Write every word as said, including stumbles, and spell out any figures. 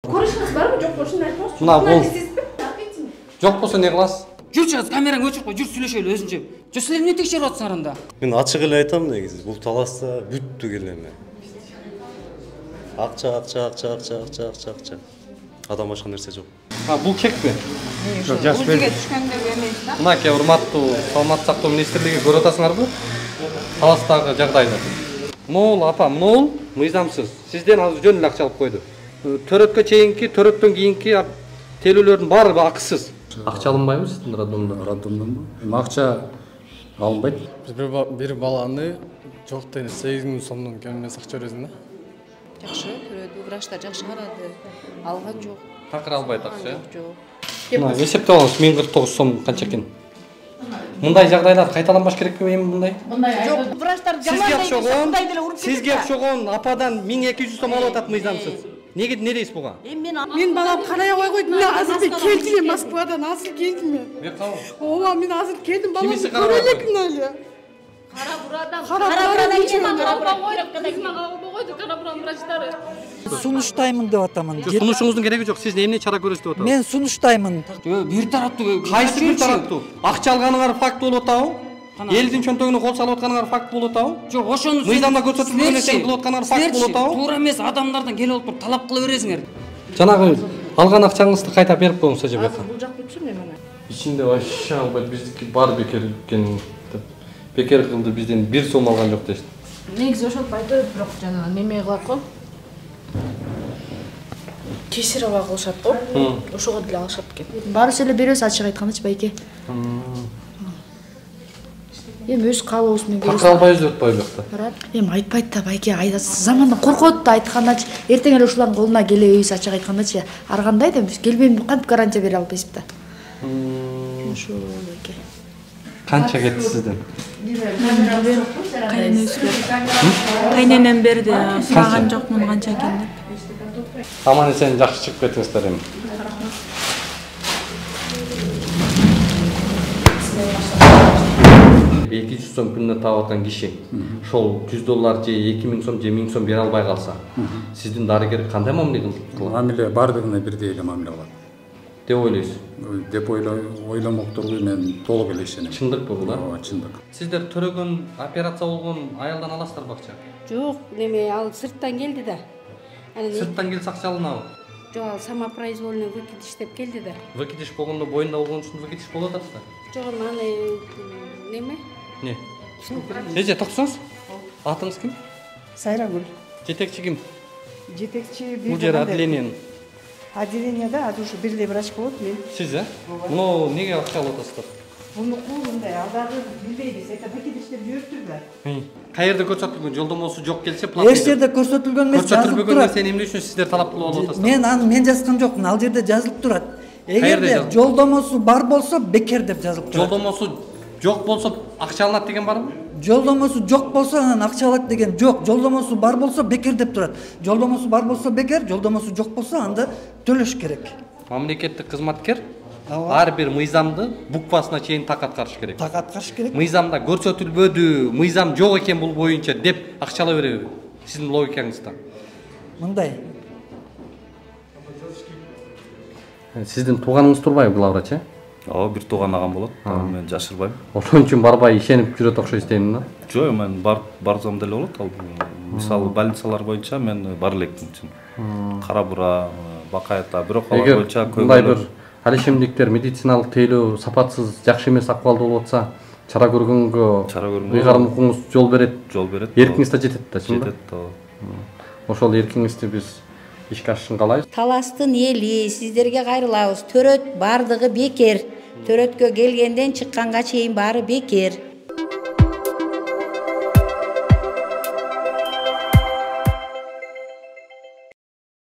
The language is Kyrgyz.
Көрүшүңүз барбы, жок болушун айтыңызчы. Мына бул. Жок болсо не кыласыз? Жүрчү, азыр камераңды өчүрүп кой, жүр сүйлөшөлү өзүнчө. Жо силер эмне текшерип атасыңар анда? Мен ачык эле айтам негизи, бул таласта бүттү келеме. Акча, акча, акча, акча, акча, акча, акча. Адам башка нерсе жок. А, бул чекпи? Жок, жаш бер. Бизге түшкөндө эмес да. Мынакей урматтуу Саламаттык сактоо министрлиги көрүп атасыңарбы? Таластагы жагдайды. Могул апа, могул мыйзамсыз. Сизден азыр жөн эле акча алып койду. Төрөткө чейинки, төрөттөн кийинки тейлөөлөрдүн баары акысыз. Акча алынбайбы сиздин роддомдо? Роддомдонбу? Эми акча алынбайт. Биз бир баланы жок дегенде сегиз миң сомдон кем эмес акча бересиң да. Жакшы көрөдү, врачтар жакшы карады. Алган жок. Такыр албайт акча. Жок. Мына эсептеп алыңыз, миң кырк тогуз сом канча экен? Мындай жагдайлар кайталанбаш керекпи эми мындай? Жок, врачтар Сизге окшогон, сизге окшогон ападан миң эки жүз сом алып атат мыйзамсыз. Неге не дейсиз буга? Мен балам карай албай койдум. Мен азыр келдим Москвадан, азыр келдим мен. Мен кабыл. Ооба, мен азыр келдим балам. Кимиси карабай элекмин эле. Кара бурадан, кара бурадан ким койду, кара буран врачтары. Сунуштаймын деп атамын. Сунушуңуздун кереги жок. Сиз эмне чара көрөсүз деп атасыз? Мен сунуштаймын. Бир тараптуу. Кайсы бир тараптуу? Акча алганыңар факт болуп атабы? Элдин чөнтөгүнө кол салып атканыңар факт болуп атабы? Жок, ошону мыйзамда көрсөтүлгөн нерсени кылып атканыңар факт болуп атабы? Туура эмес, адамдардан келип алып талап кыла бересиңер. Жанагы алган акчаңызды кайта берип коюңуз эже бека. Бул жак бүтсүн мен мына. Ичинде вообще албайт, биздики бар бекер экен деп. Бекер кылды, бизден бир сом алган жок дешти. Негизи ошентпайды, бирок жана неме кылат го. Кесирево кылышат го. Ошого деле алышат экен. Баарыбыз эле беребиз, ачык айткандачы байке. Эми өз каалообуз менен беребиз. Такыр албайбыз деп атпайбы бакта? Эми айтпайт да байке, айдасы замандан коркот да айткандачы. Эртең эле ушулардын колуна келебиз, ачык айткандачы. Ар кандай да биз келбейм деп кантип гарантия бере албайбыз да. Ошо байке. Канча кетти сизден? Кайненем берди, сураган жокмун канча экен деп. Аман эсен жакшы чыгып кеттиңиздер эми. эки жүз сом күнүнө таап аткан киши ошол жүз доллар же эки миң сом же миң сом бере албай калса, сиздин дарыгер кандай мамиле кылат? Мамиле бардыгына бирдей эле мамиле кылат деп ойлойсуз? Деп ойломокторго мен толук эле ишенем. Чындыкпы бул? Ооба, чындык. Сиздер төрөгөн операция болгон аялдан аласыздарбы акча? Жок, неме ал сырттан келди да. Сырттан келсе акча алынабы? Жок, ал самопроизвольный выкидыш деп келди да. Выкидыш болгондо боюнда болгон үчүн выкидыш болуп атат да. Жок, аны неме? Не? Эже токтосоңуз? Атыңыз ким? Сайрагүл. Жетекчи ким? Жетекчи бир. Бул жер отделениянын. Отделенияда азыр ушу бир эле врач болот мен. Сиз, э? Муну неге акча алып атасыздар? Мунуку мындай, алдагы билбейбиз. Это выкидыштер жибериптир да. Каерде көрсөтүлгөн? Жолдомосу жок келсе платный. Эч жерде көрсөтүлгөн эмес, жазылып турат. Көрсөтүлбөгөн нерсени эмне үчүн сиздер талап кылып алып атасыздар? Мен аны мен жазган жокмун, ал жерде жазылып турат. Эгерде жолдомосу бар болсо бекер деп жазылып турат. Жолдомосу жок болсо акча алынат деген барбы? Жолдомосу жок болсо анан акча алат деген жок. Жолдомосу бар болсо бекер деп турат. Жолдомосу бар болсо бекер, жолдомосу жок болсо анда төлөш керек. Мамлекеттик кызматкер ар бир мыйзамды буквасына чейин так аткарыш керек. Так аткарыш керек. Мыйзамда көрсөтүлбөдү, мыйзам жок экен бул боюнча деп акча ала береби? Сиздин логикаңызда. Мындай. Сиздин тууганыңыз турбайбы бул врач, э? Ооба, бир тууган агам болот. Мен жашырбайм. Ошон үчүн барбай ишенип жүрөт окшойт дейм да. Жок, мен барсам деле болот. Ал мисалы больницалар боюнча мен бар электим үчүн. Кара бура, Бакайта, бирок алар боюнча көбүнчө мындай бир алишемдиктер, медициналык тейлөө сапатсыз, жакшы эмес акыбалда болуп атса, чара көргөнгө ыйгарым укуңуз жол берет. Жол берет. Эркиңиз да жетет да, чынбы? Жетет да. Ошол эркиңизди биз ишке ашышын каалайбыз. Таластын эли, сиздерге кайрылабыз. Төрөт бардыгы бекер. Төрөткө келгенден чыкканга чейин баары бекер.